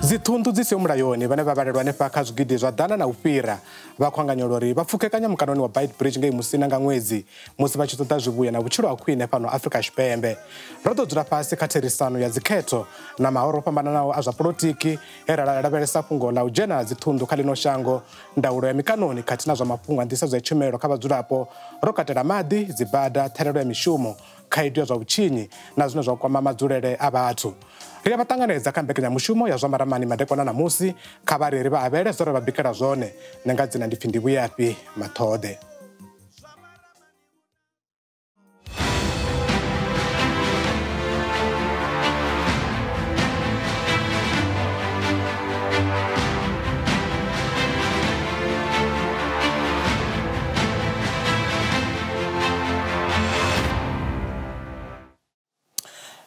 Dziṱhunḓu dzi siho mulayoni vhane vha vhalelwa hanefha kha zwigidi zwa ḓana na u fhira vha khwanganyelwa uri vha pfukekanya mukanoni wa Beitbridge ngei Musina nga ṅwedzi musi vha tshi ṱoḓa zwivhuya na vhutshilo ha khwine fhano Afrika Tshipembe. Ro ḓo dzula fhasi kha therisano ya dzikhetho na mahoro o fhambananaho a zwa polotiki he ra lavhelesa fhungo ḽa u dzhena dziṱhunḓu kha ḽino shango, ndaulo ya mikanoni khathihi na zwa mafhungo a nḓisedzo ya tshumelo kha vhadzulapo, ro katela maḓi, dzibada, ṱhahelelo ya mishumo, khaedu ya zwa vhutshinyi na zwine zwa kwama madzulele a vhathu. Ri a vha ṱanganedza kha mbekanyamushumo ya zwa maramani madekwana ṋamusi. Kha vha ri ri vha avhele zwo ri vha bikela zwone. Nṋe nga dzina ndi pfi ndi Vhuyafhi Maṱhoḓe.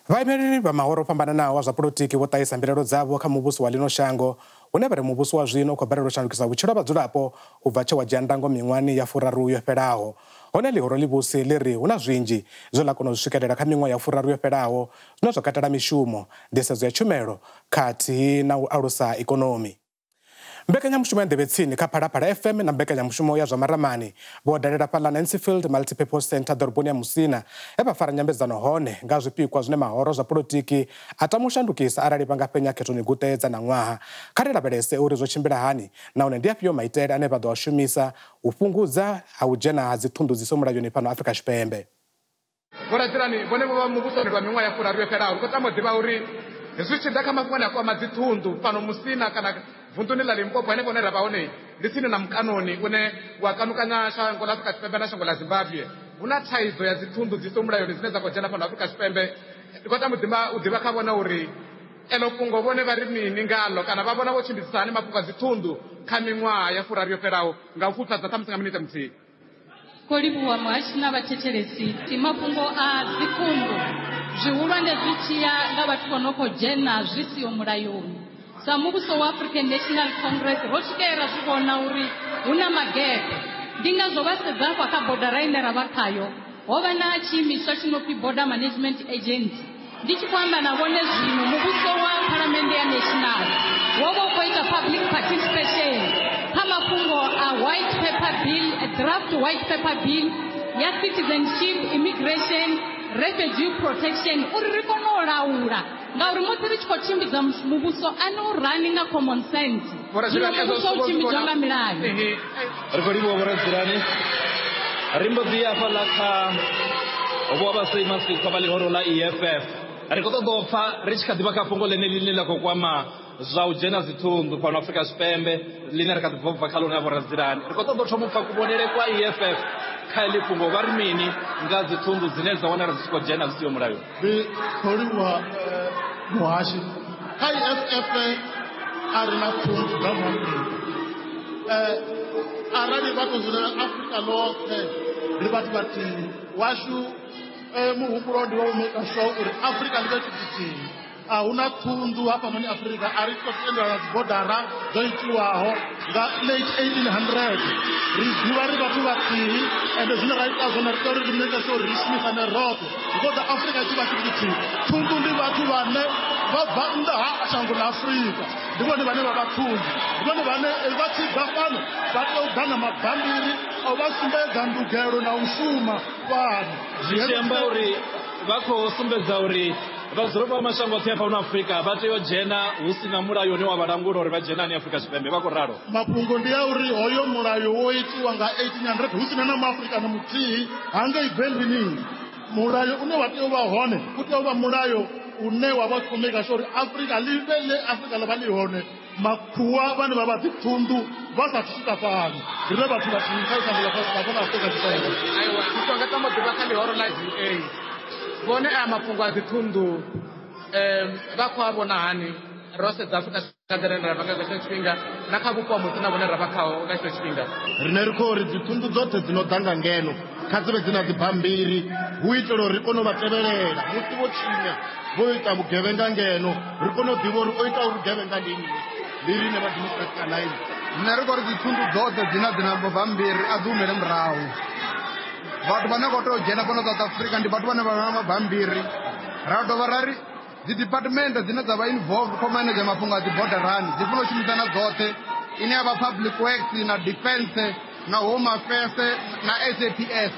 Vhaimeleli vha mahoro o fhambananaho a zwa polotiki vho ṱahisa mbilaelo dzavho kha muvhuso wa ḽino shango, hune vha ri muvhuso wa zwino u khou balelwa u shandukisa vhutshilo ha vhadzulapo u bva tshe wa dzhia ndango miṅwahani ya furaru yo fhelaho. Hone ḽihoro ḽivhusi ḽi ri hu na zwinzhi zwe ḽa kona u zwi swikelela kha miṅwaha ya furaru yo fhelaho, zwine zwa katela mishumo, nḓisedzo ya tshumelo khathihi na u alusa ikonomi. Mbekanyamushumo ya Nḓevhe Tsini kha Phalaphala FM na mbekanyamushumo ya zwa maramani vho dalela fhaḽa Nancyfield Multipurpose Centre ḓoroboni ya Musina, he vha fara nyambedzano hone nga zwipikwa zwine mahoro zwa polotiki a tama u shandukisa arali vha nga fhenya khethoni guṱe dza ṋaṅwaha. Kha ri lavhelese uri zwo tshimbila hani nahone ndi afhio maitele ane vha ḓo a shumisa u fhungudza ha u dzhena ha dziṱhunḓu dzi siho mulayoni fhano Afrika Tshipembe. Vho Radzilani, vhone vho vha muvhusoni lwa miṅwaha ya furaru yo fhelaho. Ri khou tama u ḓivha uri zwi tshi ḓa kha mafhungo ane a kwama dziṱhunḓu fhano Musina kana vunḓuni ḽa Limpopo henefho hune ra vha hone ndi tsini na mukanoni une wa kanukanya shango ḽa Afrika Tshipembe na shango ḽa Zimbabwe. Hu na thaidzo ya dziṱhunḓu dzi siho mulayoni dzine dza khou dzhena fhano Afrika Tshipembe. Ndi khou tama u ḓivha kha vhone uri elo fhungo vhone vha ri mini ngalo kana vha vhona vho tshimbidzisa hani mafhungo a dziṱhunḓu kha miṅwaha ya furaru yo fhelaho nga u pfufhadza ṱhamusi nga minete muthihi. Khou livhuwa muhashi na vhathetshelesi. Ti mafhungo a dziṱhunḓu zwihulwane zwi tshiya nga vhathu vho no khou dzhena zwi siho mulayoni. Sa muvhuso wa African National Congress ro swikelela zwi vhona uri hu na magepe. Ndi ngazwo vha sedza hafha kha bodara ine ra vha khayo ho vha na tshiimiswa tshi no pfi Border Management Agency. Ndi tshi khou amba na vhone zwino, muvhuso wa Phalamennde ya National wo vha u khou ita public participation kha mafhungo a white paper bill, draft white paper bill ya citizenship, immigration, refugee protection, uri ri kone u laula. Ngauri musi ri tshi khou tshimbidza muvhuso a ni u rani nga common sense. Zwino muvhuso u tshimbidzwa nga milayo. Ri khou livhuwa Vho Radzilani. Ri mbo ḓi ya hafhaḽa kha vho vha Seimasikwa vha ḽihoro ḽa EFF. Ri khou ṱoḓa u pfa ri tshi kha ḓi vha kha fhungo ḽeneḽi ḽine ḽa khou kwama zwa u dzhena dziṱhunḓu fhano Afrika Tshipembe ḽine ri kha ḓi bva bva kha ḽone na Vho Radzilani. Ri khou ṱoḓa u thoma u pfa kuvhonele kwa EFF kha heḽi fhungo, vha ri mini nga dziṱhunḓu dzine dza wanala dzi tshi khou dzhena zwi siho mulayoni. Ndi khou livhuwa muhashi. Kha EFF a ri na ṱhunḓu dza Afrika. Arali vha tou dzulela Afrika ḽoṱhe ri vhathu vhathihi. Washu muhumbulo ndi wa u maker sure uri Afrika ḽi vhe tshithu tshithihi. A hu na ṱhunḓu hafhanoni Afrika, a ri khou tendelana dzibodara dzo itiwaho nga late 1800. Ri ḓivha ri vhathu vhathihi, ende zwine ra ita zwone ri tea uri ri make sure uri ri shumisane roṱhe. Ri khou ḓa Afrika tshi vha tshithu tshithihi. Ṱhunḓu ndi vhathu vhane vha bva nnḓa ha shango ḽa Afrika, ndi vhone vhane vha vha ṱhunḓu, ndi vhone vhane vha tshi ḓa fhano vha tea u ḓa na mabambiri a u vha sumbedza ndugelo na u shuma fhano. Zwi tshi amba uri vha khou sumbedza uri vhadzulapo vha mashango oṱhe a fhano Afrika vha tea u dzhena hu si na mulayo une wa vha langula uri vha dzhena hani Afrika Tshipembe, vha khou ralo. Mafhungo ndi a uri hoyo mulayo wo itiwa nga 1800 hu sina na muafrika na muthihi hangei Berlin. Mulayo une wa tea u vha hone u tea u vha mulayo une wa vha khou maker sure uri Afrika ḽi vhe ḽe Afrika ḽa vha ḽi hone, makhuwa vhane vha vha dziṱhunḓu vha sa swika fhano, ri vhe vhathu vhathihi kha shango ḽa fhano Afrika Tshipembe. Aiwa, muthu anga tama u ḓivha kha ḽihoro ḽa DA vhone aya mafhungo a dziṱhunḓu vha khou a vhona hani ro sedza Afrika Tshipembe ra vha nga tshino tshifhinga na kha vhupo ha Musina vhune ra vha khaho nga tshino tshifhinga. Rine ri khou ri dziṱhunḓu dzoṱhe dzi no ḓa nga ngeno kha dzi vhe dzi na dzibammbiri hu itela uri ri kone u vha tevhelela musi vho tshinya, vho ita vhugevhenga ngeno ri kone u ḓivha uri o ita uri vhugevhenga ndi nnyi. Ndi riṋe vha Democratic Alliance. Nṋe ri khou ri dziṱhunḓu dzoṱhe dzine dzi na mabambiri a dzi humele murahu. Vhathu vhane vha tea u dzhena fhano South Africa ndi vhathu vhane vha vha na mabambiri. Ra dovha ra ri Dzi department dzine dza vha involved kho manage mafhungo a dzi borderani dzi funa u shumisana dzoṱhe, ine ya vha public works na defense na home affairs na SAPS.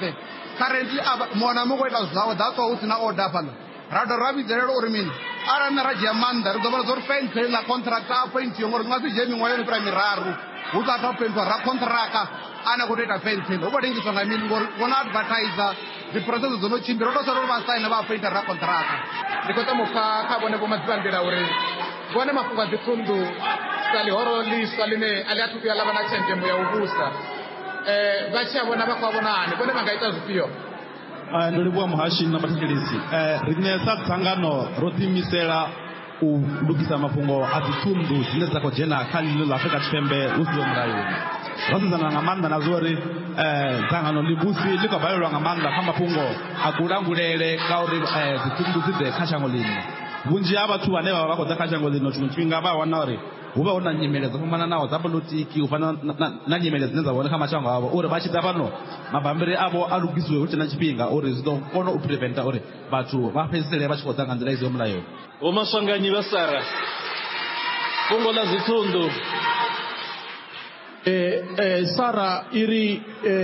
Currently muṅwe na muṅwe khou ita zwawe, that's why hu si na order fhaḽa. Ra dovha ra vhidzelela uri mini, arali nṋe ra dzhia maanḓa ri ḓo vhona uri fence ḽa contract a appointiwe, ngori nga si dzhie miṅwaha yo no fhira miraru hu sathu appointiwa ra contract ane a khou tou ita fence hu khou lengiswa nga mini, ngori vho no advertise dzi process dzo no tshimbila, ro tou sala uri vha saine vha appointa ra contract. Ndi khou tama u pfa kha vhone Vho Madzivhandila uri vhone mafhungo a dziṱhunḓu sa ḽihoro ḽiswa ḽine a ḽi athu vhuya ḽa vha na tshenzhemo ya u vhusa, vha tshi a vhona vha khou a vhona hani, vhone vha nga ita zwifhio? Ndo livhuwa muhashi na vhathetshelesi. Riṋe sa dzangano ro ḓiimisela u lugisa mafhungo a dziṱhunḓu dzine dza khou dzhena kha ḽino ḽa Afrika Tshipembe hu siho mulayoni. Ro sedzana nga maanḓa na zwa uri dzangano ḽivhusi ḽi khou balelwa nga maanḓa kha mafhungo a kulangulele ngauri dziṱhunḓu dzi ḓe kha shango ḽino. Vhunzhi ha vhathu vhane vha vha khou ḓa kha shango ḽino tshiṅwe tshifhinga vha wana uri hu vha hu na nyimele dzo fhambananaho dza polotiki u fana na nyimele dzine dza vha hone kha mashango avho, uri vha tshi ḓa fhano mabambiri avho a lugisiwe hu tshe na tshifhinga, uri zwi ḓo kona u preventa uri vhathu vha fhedzisele vha tshi khou ḓa nga nḓila i siho mulayoni. Vho Maswanganyi vha Sara, fhungo ḽa dziṱhunḓu. Sara iri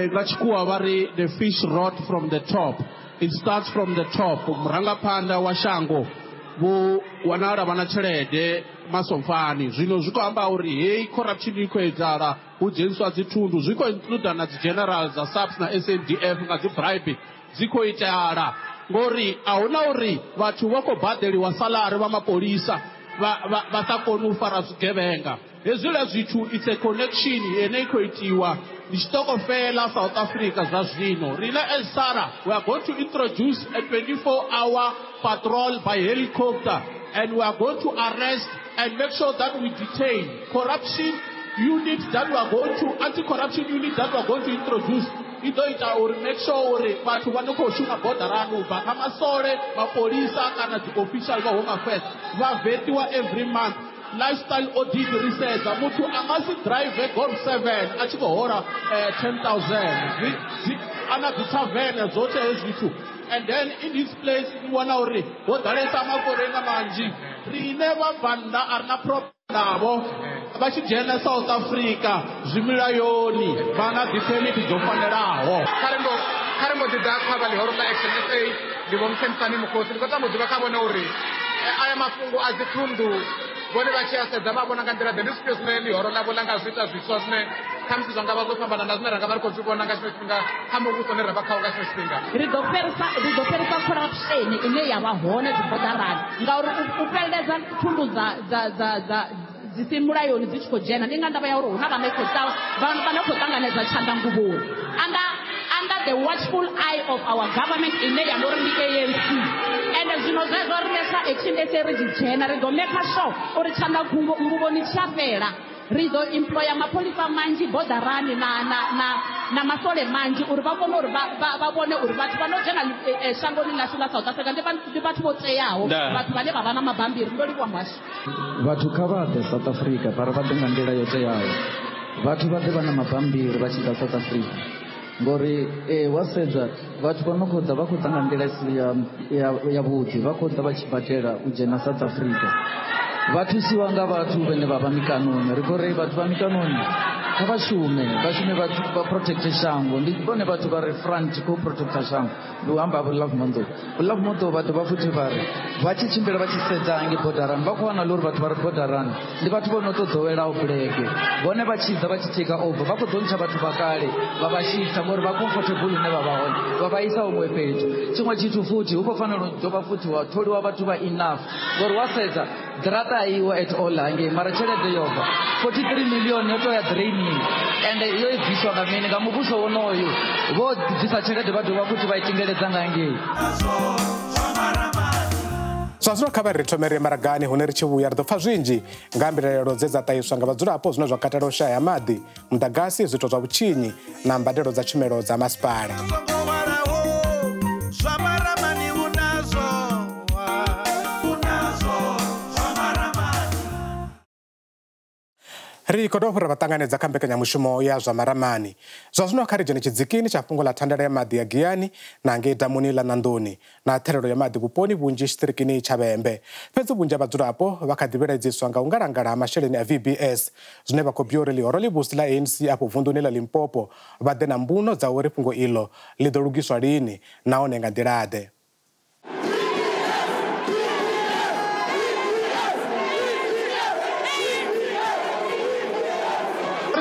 nga tshikhuwa vha ri the fish rot from the top. It starts from the top. Murangaphanḓa wa shango vho wanala vha na tshelede masomfani, zwino zwi khou amba uri heyi corruption i khou edzala, hu dzheniswa dzithundu, zwi khou includa na dzi general dza SAPS na SANDF nga dzi bribe dzi khou itala, ngori a huna uri vhathu vha khou badeliwa salary vha mapolisa vha sa koni u fara zwigevhenga. Hezwiḽa zwithu it's a connection ine i khou itiwa ndi tshiṱokofela South Africa zwa zwino. Rine as SARA we are going to introduce a 24-hour patrol by helicopter, and we are going to arrest and make sure that we detain corruption unit that we are going to, anti-corruption unit that we are going to introduce. I ḓo ita uri make sure uri vhathu vha no khou shuma bodarani u bva kha masole, mapolisa kana dzi official vha home affairs vha vetiwa every month. Lifestyle audit ri sedza muthu a nga si drive Golf 7 a tshi khou hola 10,000 ana dzi tavern dzoṱhe hezwi zwithu. And then in this place ni wana uri ho ḓalesa maforeina manzhi. Riṋe vhabvannḓa a ri na problem navho, vha tshi dzhena South Africa zwi milayoni, vha na dzi permit dzo fanelaho. Kha ri mbo ḓi ḓa kha vha ḽihoro ḽa Action SA, ndi Vho Mthengisani Mukhosi. Ndi khou tama u ḓivha kha vhone uri aya mafhungo a dziṱhunḓu vhone vha tshi a sedza vha vhona nga nḓila ḓe, ndi zwifhio zwine ḽihoro ḽavho ḽa nga zwi ita zwiswa zwine khamusi zwa nga vha zwo fhambana na zwine ra nga vha ri khou zwi vhona nga tshino tshifhinga kha muvhuso une ra vha khawo nga tshino tshifhinga. Ri ḓo fhelisa corruption ine ya vha hone dzi bodarani, ngauri u fheleledza thundu dza dzi si mulayoni dzi tshi khou dzhena ndi nga ndavha ya uri hu na vhane khou ṱanganedza tshanḓanguvhoni under the watchful eye of our government ine ya uri ndi ANC. Ende zwino zwezwo riṋe sa Action SA ri tshi dzhena ri ḓo make sure uri tshanḓanguvhoni tshi a fhela. Ri ḓo employa mapholisa manzhi bodarani na masole manzhi uri vha kone uri vha vhone uri vhathu vha no dzhena shangoni ḽashu ḽa South Africa ndi vhathu vho teaho, vhathu vhane vha vha na mabambiri. Ndo livhuwa muhasho. Vhathu kha vha ḓe South Africa vha ḓe nga nḓila yo teaho, vhathu vha ḓe vha na mabambiri vha tshi ḓa South Africa, ngori wa sedza vhathu vha no khou ḓa vha khou ḓa nga nḓila isi ya vhuḓi, vha khou ḓa vha tshi badela u dzhena South Africa. Vha thusiwa nga vhathu vhane vha vha mikanoni. Ri khou ri vhathu vha mikanoni kha vha shume, vha protecte shango. Ndi vhone vhathu vha re front khou protecta shango. Ndi u amba vho Love Mondo. Love Mondo vha dovha futhi vha ri vha tshi tshimbila vha tshi sedza hangi bodarani vha khou wana uri vhathu vha re bodarani ndi vhathu vho no tou ḓowelaho bulege. Vhone vha tshi ḓa vha tshi take over vha khou ḓo ntsha vhathu vha kale vha vha shisa ngori vha comfortable hune vha vha hone, vha vha isa huṅwe fhethu. Tshiṅwe tshithu futhi hu khou fanela u dovha futhi wa tholiwa vhathu vha enough, ngori wa sedza ḓirata a iwe at all hangei, mara tshelede yo bva 43 million yo to ya draining, ende yo i bviswa nga mini? Nga muvhuso wonoyu. Vho bvisa tshelede vha dovha futhi vha i tingeledza nga ngei. Zwa zwino kha vha ri thome ri maragani hune ri tshi vhuya ri ḓo pfa zwinzhi nga mbilaelo dze dza ṱahiswa nga vhadzulapo zwine zwa katela u shaya maḓi, muḓagasi, zwiito zwa vhutshinyi na mbadelo dza tshumelo dza masipala. Ri khou dovha ra vha ṱanganedza kha mbekanyamushumo ya zwa maramani. Zwa zwino kha ri dzhene tshidzikini tsha fhungo ḽa thandela ya maḓi ya Giyani na ngei damuni ḽa Nandoni na thelelo ya maḓi vhuponi vhunzhi tshiṱirikini tsha Vhembe. Fhedzi vhunzhi ha vhadzulapo vha kha ḓi vhilaedziswa nga u ngalangala ha masheleni a VBS, zwine vha khou bia uri ḽihoro ḽivhusi ḽa ANC afho vunduni ḽa Limpopo vha ḓe na mbuno dza uri fhungo iḽo ḽi ḓo lugiswa lini nahone nga nḓila-ḓe.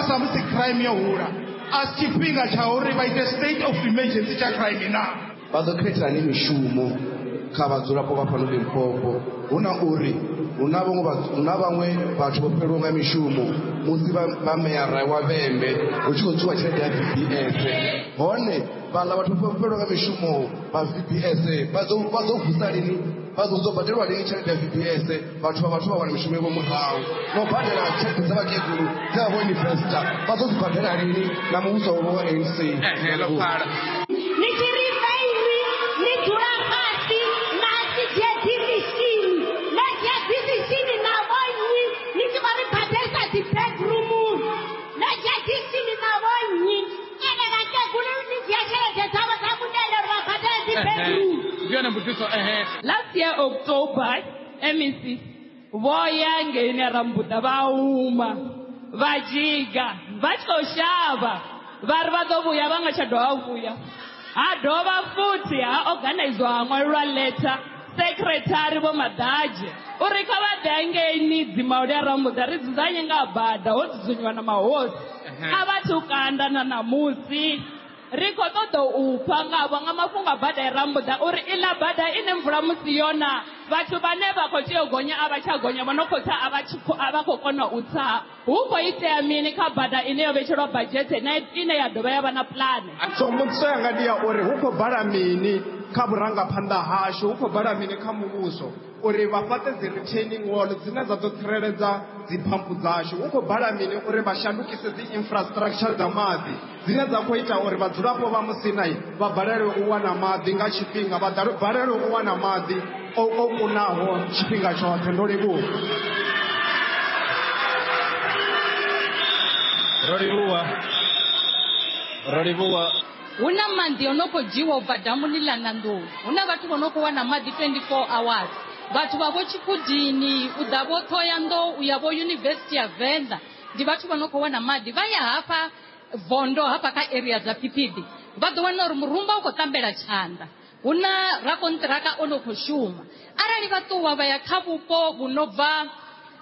Samusi crime yo hula a si tshifhinga tsha uri vha ite state of emergency tsha crime na vha ḓo khetha ni mishumo kha vhadzulapo vha fhano Limpopo. Hu na uri hu na vhaṅwe vhathu vho fhelelwaho nga mishumo musi vha meyara wa Vhembe hu tshi khou tswiwa tshelede ya VBS, hone vhaḽa vhathu vho fhelelwaho nga mishumo vha VBS vha ḓo vusa lini, vha ḓo badelwa lini tshelede ya VBS? Vhathu vha wana mishumo yavho murahu no badela tshelede dza vhakegulu dze vha vho investor vha ḓo dzi badela lini na muvhuso wa ANC? Ni tshi ri faini ni dzula fhasi na si dzhie decision, na dzhia decision na vhonnyi ni tshi khou ri badelisa dzi bedroom, na dzhia decision na vhonnyi ene vhakegulu ni dzhia tshelede dzavho dza mundende uri vha badele dzi bedroom. Last year October, MEC vho ya ngeini Rambuḓa vha huma vha dzhiga vha tshi khou shavha vha ri vha ḓo vhuya vha nga tsha dovha vhuya. Ha dovha futhi ha organizwa ha ṅwalelwa letter secretary Vho Maḓadzhe uri kha vha ḓe hangeini Dzimauli ya Rambuḓa ri dzudzanye nga bada ho dzudzanyiwa na mahosi. A vha thu kanda na ṋamusi. Ri khou ṱoḓa u pfa ngavho nga mafhungo a bada ya Rambuḓa uri iḽa bada ine mvula musi yona vhathu vhane vha khou tea u gonya a vha tsha gonya, vho no khou tsa a vha khou kona u tsa. Hu khou itea mini kha bada ine yo vhetshelwa badzhete na ine ya dovha ya vha na pulane? So mbudziso yanga ndi ya uri hu khou bala mini kha vhurangaphanḓa hashu, hu khou bala mini kha muvhuso uri vha fhaṱe dzi retaining wall dzine dza ḓo tsireledza dziphampu dzashu? Hu khou bala mini uri vha shandukise dzi infrastructure dza maḓi dzine dza khou ita uri vhadzulapo vha Musina vha balelwe u wana maḓi nga tshifhinga, vha balelwe u wana maḓi o kunaho tshifhinga tshoṱhe? Ndo livhuwa. Ro livhuwa. Hu na maḓi o no khou dzhiwa u bva damuni ḽa Nandoni, hu na vhathu vho no khou wana maḓi 24 hours. Vhathu vha vho Tshikhudini, u ḓa vho Thohoyandou, u ya vho Yunivesithi ya Venḓa, ndi vhathu vha no khou wana maḓi. Vha ya hafha Vondo hafha kha area dza Phiphidi vha ḓo wana uri murumba u khou ṱambela tshanḓa, hu na rakonṱiraka o no khou shuma. Arali vha ṱuwa vha ya kha vhupo vhu no bva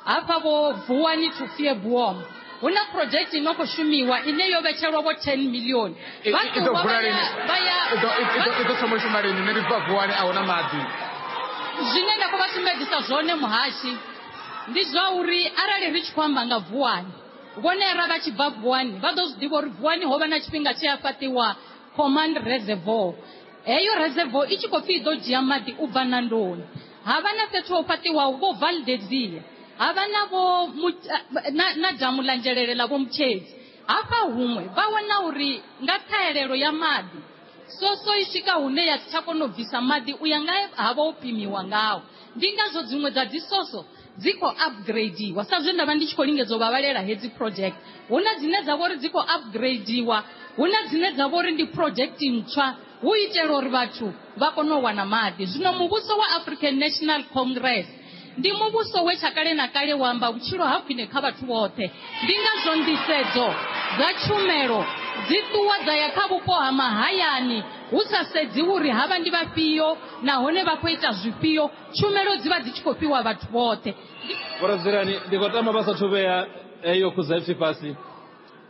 hafha vho Vuwani to Fieboom, hu na project ino khou shumiwa ine yo vhetshelwa vho 10 million. Vha ṱuwa vha ya i ḓo thoma u shuma lini? Nṋe ndi bva Vuwani, a huna maḓi. Zwine nda khou vha sumbedzisa zwone muhashi ndi zwa uri arali ri tshi khou amba nga Vuwani, vhone ara vha tshi bva Vuwani vha ḓo zwi ḓivha uri Vuwani ho vha na tshifhinga tshe ya fhaṱiwa command reservoir. Heyo reservoir i tshi khou pfi i ḓo dzhia maḓi u bva Nandoni. Ha vha na fhethu ho fhaṱiwaho vho Valdezia, ha vha na vho na damu ḽa Nzhelele ḽa vho Mutshedzi. Hafha huṅwe vha wana uri nga ṱhahelelo ya maḓi soso i swika hune ya si tsha kona u bvisa maḓi u ya nga ha vha u pimiwa ngaho. Ndi ngazwo dziṅwe dza dzi soso dzi khou upgradeiwa, sa zwe nda vha ndi tshi khou lingedza u vha vhalela hedzi project. Hu na dzine dza vha uri dzi khou upgradeiwa, hu na dzine dza vha uri ndi project ntswa hu itela uri vhathu vha kone u wana maḓi. Zwino muvhuso wa African National Congress ndi muvhuso we tsha kale na kale wa amba vhutshilo ha khwine kha vhathu vhoṱhe. Ndi ngazwo nḓisedzo dza tshumelo dzi ṱuwa dza ya kha vhupo ha mahayani hu sa sedziwi uri havha ndi vhafhio nahone vha khou ita zwifhio, tshumelo dzi vha dzi tshi khou fhiwa vhathu vhoṱhe. Vhoradzilani, ndi khou tama vha sathu vhea eyo khuzaipfi fhasi,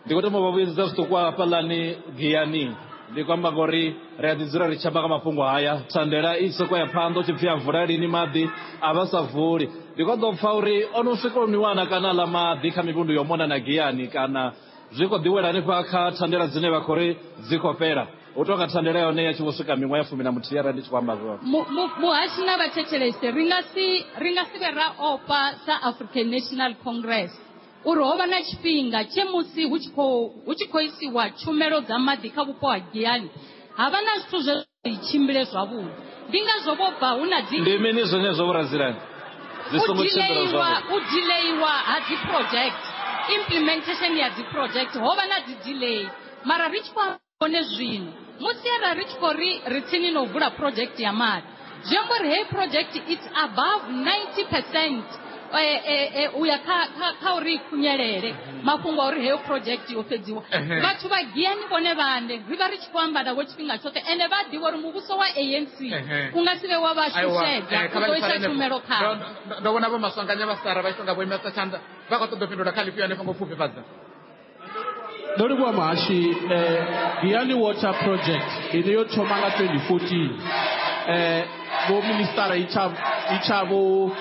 ndi khou tama vha vhuyedzedza zwiṱuku hafhaḽani Giyani. Ndi khou amba ngori ri a ḓi dzula ri tshi amba nga mafhungo haya, thandela i soko ya phanḓa u tshi pfhi a vula lini maḓi a vha sa vuli. Ndi khou ḓo pfha uri o no swika u miwana kana ḽa maḓi kha mivhundu yo mona na Giyani, kana zwi khou ḓiwela hanefha kha thandela dzine vha khou ri dzi khou fhela. Hu tonga thandela yone ya tshi vho swika miṅwaha ya 11 arali ndi tshi khou amba zwone. Muhashi na vhathetshelesi, ri nga si vhe ra ofha sa African National Congress uri ho vha na tshifhinga tshe musi hu tshi khou isiwa tshumelo dza maḓi kha vhupo ha Giyani ha vha na zwithu zwe zwi tshimbile zwavhuḓi. Ndi ngazwo vho bva hu na dzi ndi mini zwenezwo vhoradzilani zwi songo tshimbila zwavhuḓi? U delaywa ha dzi project. Implementation ya dzi project ho vha na dzi delay, mara ri tshi khou hone zwino musi arali ri tshi khou ri ri tsini no vula project ya maḓi, zwi amba uri heyi project it's above 90% uya kha uri i khunyelele mafhungo a uri heyo project yo fhedziwa. Vhathu vha Giyani vhone vhaṋe ri vha ri tshi khou amba navho tshifhinga tshoṱhe, ende vha ḓivha uri muvhuso wa ANC u nga si vhe wa vha shushedza, u ḓo isa tshumelo khavho. Ndo vhona vho Maswanganya vha Sara vha tshi tonga vho imesa tshanḓa, vha khou ṱoḓa u fhindula kha ḽifhio hanefho ngo pfufhifhadza. Ndo livhuwa muhashi. Giyani Water Project ine yo thoma nga 2014, vho ministara itsha vho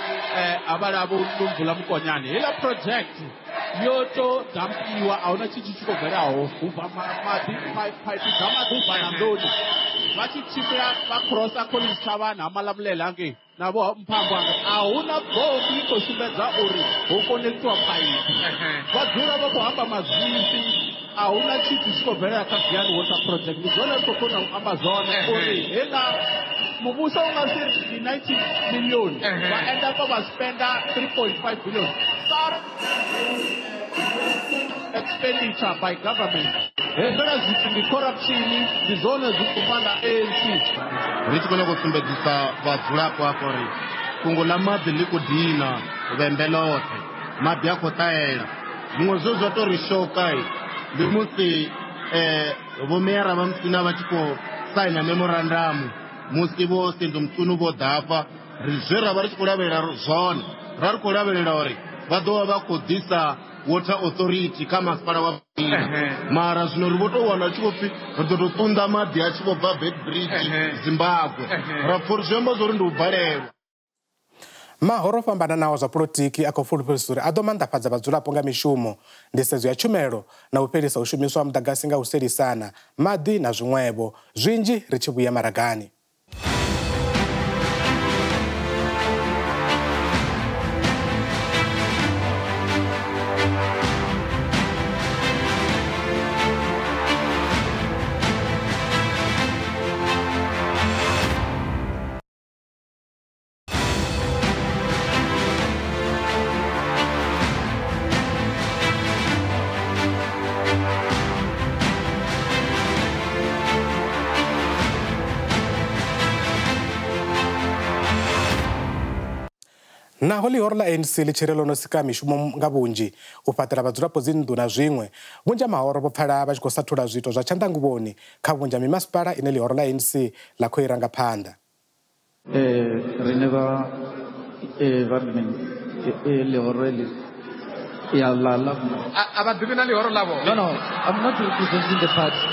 havhala vho Nomvula Mokonyane, heiḽa project yo to dampiwa, a huna tshithu tshi khou bvelaho. Hu bva maḓi, phaipi dza maḓi u bva na nḓuni vha tshi tshimbila vha crossa Collins Chabane ha Malamulele hangei na vho Mphambo hangei, a huna bombi i khou sumbedza uri ho konektiwa phaipi. Vha dzula vha khou amba mazwifhi, a huna tshithu tshi khou bvelela kha Giyani Water Project. Ndi zwone ri khou kona u amba zwone uri heiḽa muvhuso u nga si ri ndi 90 million vha enda pa vha spenda 3.5 billion. Sara expenditure by government, hezwiḽa zwithu ndi corruption, ndi zwone zwi khou fanda ANC. Ri tshi khou nyanga u sumbedzisa vhadzulapo afho uri fhungo ḽa maḓi ḽi khou dina Vhembe ḽoṱhe, maḓi a khou ṱahela. Zwiṅwe zwe zwa tou ri shoka ndi musi vho meyara vha Musina vha tshi khou saina memorandum musi vho Senzo Mchunu vho ḓa hafha. Ri zwe ra vha ri tshi khou lavhelela zwone, ra ri khou lavhelela uri vha ḓo vha vha khou ḓisa water authority kha masipala wa Musina, mara zwino ri vho tou wana tshi vho pfhi ri ḓo tou ṱunḓa maḓi a tshi vho bva Beitbridge, Zimbabwe. Ra pfha uri zwi amba zwa uri ndi u balelwa. Mahoro o fhambananaho zwa polotiki a khou fulufhedzisa uri a ḓo manḓafhadza vhadzulapo nga mishumo, nḓisedzo ya tshumelo na u fhelisa u shumiswa ha muḓagasi nga u selisana, maḓi na zwiṅwevho zwinzhi. Ri tshi vhuya maragani. Naho ḽihoro ḽa ANC ḽi tshi ri ḽo no sika mishumo nga vhunzhi, u fhaṱela vhadzulapo dzinnḓu na zwiṅwe, vhunzhi ha mahoro vho pfala vha tshi khou sathula zwiito zwa tshanḓanguvhoni kha vhunzhi ha mimasipala ine ḽihoro ḽa ANC ḽa khou i ranga phanḓa. Riṋe vha vha ḽihoro heḽi ya ḽa ḽa A vha ḓivhi na ḽihoro ḽavho. No, I'm not representing the party.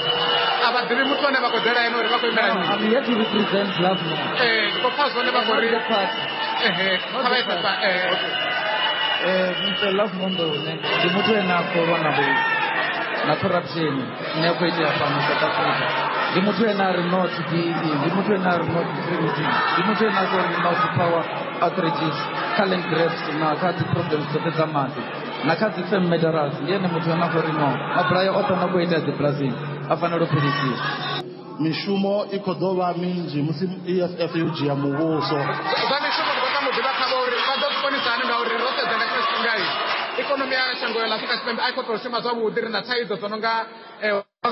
A vha ḓivhi muthu ane vha khou ḓela ene uri vha khou imela No, I'm here to represent Lovemore. Ee, ndi khou pfa zwone vha khou ri Not the party. Ehe, kha vha ise pa Mr. Lovemore Ndou ndi muthu ane a khou lwa na vhu na corruption ine ya khou itea fhano South Africa. Ndi muthu ane a ri no to BEE, ndi muthu ane a ri no to tourism, ndi muthu ane a khou ri no to power outages, kha land grabs na kha dzi problems dzoṱhe dza maḓi na kha dzi farm murderers. Ndi ene muthu ane a khou ri no mabulayo oṱhe ano khou itea dzibulasini a fanela u fhelisiwa. Mishumo i khou ḓo vha minzhi musi EFF yo dzhia muvhuso. Zwa mishumo ndi khou tama u ḓivha khavho uri vha ḓo zwi konisa hani, ngauri ro sedza nga tshino tshifhinga ikonomi ya shango ḽa Afrika Tshipembe a i khou tou shuma zwavhuḓi. Ri na thaidzo dzo no nga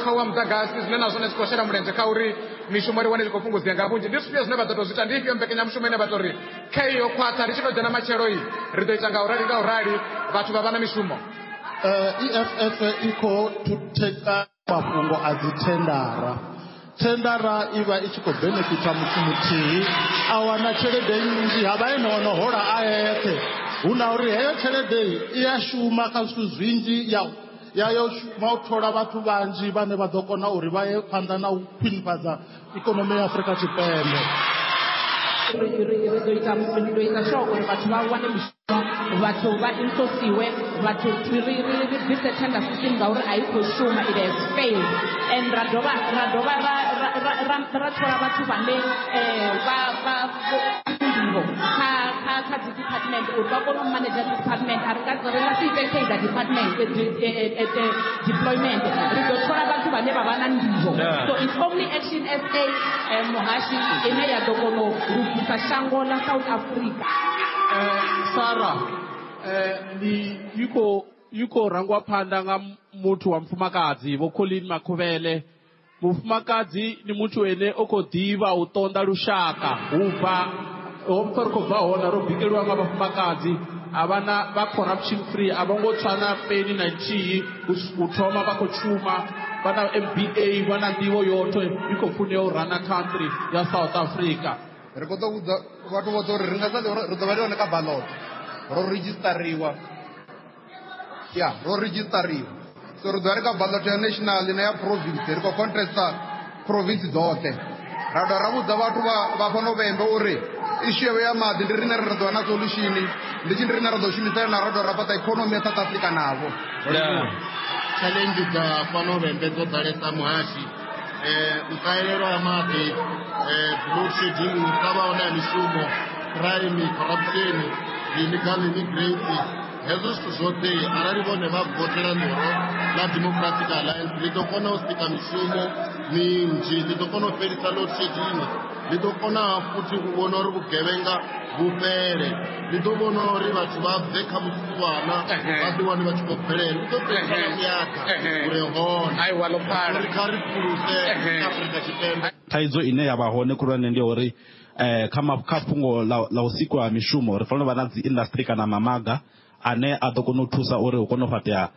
khau wa muḓagasi, zwine na zwone zwi khou shela mulenzhe kha uri mishumo ri wane i khou fhungudzea nga vhunzhi. Ndi zwifhio zwine vha ḓo tou zwi ita? Ndi ifhio mbekanyamushumo ine vha tou ri khei yo khwaṱha, ri tshi tou dzhena matshelo i ri ḓo ita nga u rali nga u rali vhathu vha vha na mishumo? EFF i khou theka mafhungo a dzi thendara. Thendara i vha i tshi khou benefita muthu muthihi, a wana tshelede nnzhi, ha vha ene ono hola a eṱhe. Hu na uri heyo tshelede i a shuma kha zwithu zwinzhi, ya yo shuma u thola vhathu vhanzhi vhane vha ḓo kona uri vha ye phanḓa na u khwinifhadza ikonomi ya Afrika Tshipembe. Ri ḓo ita, ndi ḓo ita sure uri vhathu vha wane mishumo, vhathu vha insourciwe, vhathu ri bvise tender system ngauri a i khou shuma, it has failed, and ra dovha ra thola vhathu vhane vha nḓivho kha dzi department uri vha kone u manager dzi department. A ri nga si ite cadre department deployment, ri ḓo thola vhathu vhane vha vha na nḓivho. So it's only Action SA, muhashi, ine ya ḓo kona u lugisa shango ḽa South Africa. Sara, ndi i khou i khou rangwa phanḓa nga muthu wa mufumakadzi Vho Colleen Makhuvele. Mufumakadzi ndi muthu ene o khou ḓivha u ṱonḓa lushaka hubva ho mpfa ri khou bva hone ro bikeliwa nga vhafumakadzi a vha na vha corruption free, a vho ngo tswa na peni na nthihi u thoma vha khou shuma, vha na MBA, vha na nḓivho yoṱhe i khou funea u rana country ya South Africa. Ri khou ḓo vhudza vhathu vhoṱhe uri ri nga sa ri ḓo vha ri hone kha ballot, ro redzhistariwa, ya ro redzhistariwa, so ri ḓo vha ri kha ballot ya national na ya province, ri khou contesta province dzoṱhe. Ra dovha ra vhudza vhathu vha fhano Vhembe uri issue ya maḓi ndi riṋe ri ḓo vha na solution, ndi tshi ndi riṋe ra ḓo shumisana na ra dovha ra fhaṱa economy ya South Africa navho. Challenge dza fhano Vhembe dzo ḓalesa muhashi, u ṱahelelwa ha maḓi, load shedding, u sa vha hone ha mishumo, crime, corruption, illegal immigrants. Hezwo zwithu zwoṱhe arali vhone vha votela ḽihoro ḽa Democratic Alliance ḽi ḓo kona u sika mishumo minzhi, ḽi ḓo kona u fhelisa load shedding, ḽi ḓo kona futhi u vhona uri vhugevhenga vhu fhele, ḽi ḓo vhona uri vhathu vha bve kha vhusiwana vha ḓi wane vha tshi khou bvelela, ḽi ḓo fhelisa na vhuyaḓa hure hone uri kha ri phuluse Afrika Tshipembe. Thaidzo ine ya vha hone khulwane ndi uri kha fhungo ḽa u sikwa ha mishumo ri fanela u vha na dzi industry kana mamaga ane a ḓo kona u thusa uri hu kone u fhaṱea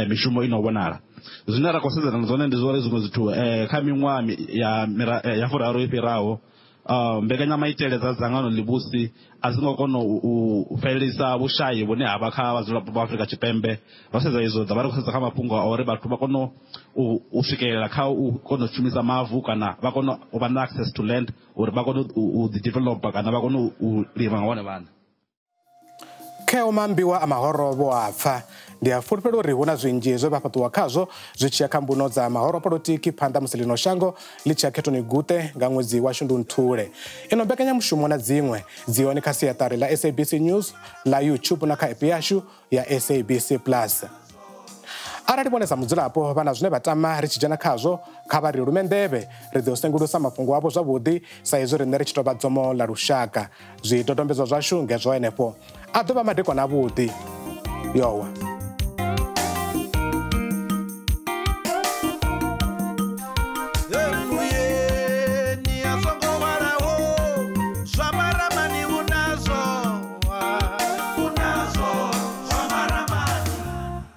mishumo ino vhonala. Zwine ra khou sedzana na zwone ndi zwa uri zwiṅwe zwithu kha miṅwaha ya furaru i fhiraho mbekanyamaitele dza dzangano ḽivhusi a dzi ngo kona u fhelisa vhushayi vhune ha vha kha vhadzulapo vha Afrika Tshipembe. Ro sedza izwo ḓa vha ri khou sedza kha mafhungo a uri vhathu vha kone u swikelela kha u kona u shumisa mavu kana vha kone u vha na access to land uri vha kone u ḓi developa kana vha kone u lima nga vhone vhaṋe. Kheo maambiwa a mahoro vho a pfa. Ndi a fulufhela uri hu na zwinzhi zwe vha fhaṱuwa khazwo zwi tshi ya kha mbuno dza mahoro a polotiki phanḓa musi ḽino shango ḽi tshi ya khethoni guṱe nga ṅwedzi wa Shundunthule. Ino mbekanyamushumo na dziṅwe dzi hone kha siaṱari ḽa SABC News, ḽa YouTube na kha app yashu ya SABC Plus. Arali vhone sa mudzulapo vha na zwine vha tama ri tshi dzhena khazwo, kha vha ri lume nḓevhe, ri ḓo sengulusa mafhungo avho zwavhuḓi sa izwi riṋe ri tshi tou vha dzomo ḽa lushaka. Zwidodombedzwa zwashu ngezwo henefho. A ḓo vha madekwana avhuḓi. Yowa.